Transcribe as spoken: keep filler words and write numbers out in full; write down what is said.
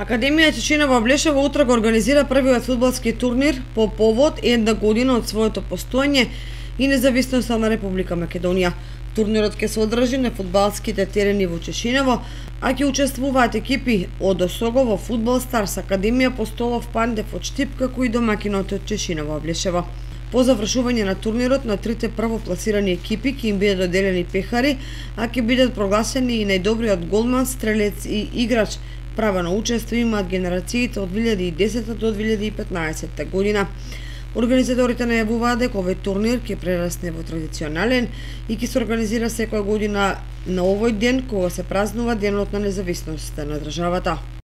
Академија Чечина во Блешево утре го организира првиот фудбалски турнир по повод една година од своето постоење и независноста на Република Македонија. Турнирот ќе се одржи на фудбалските терени во Чешиново, а ќе учествуваат екипи од Осогово, Фудбал Старс, Академија Постолов, Пандев од Штип, како и домакинот од Чешиново Блешево. По завршување на турнирот на трите првопласирани екипи ќе им бидат доделени пехари, а ќе бидат прогласени и најдобриот голман, стрелец и играч. Право на учество имаат генерациите од две илјади и десета до две илјади и петнаесетта година. Организаторите најавуваат дека овој турнир ќе прерасне во традиционален и ќе се организира секоја година на овој ден кога се празнува Денот на независноста на државата.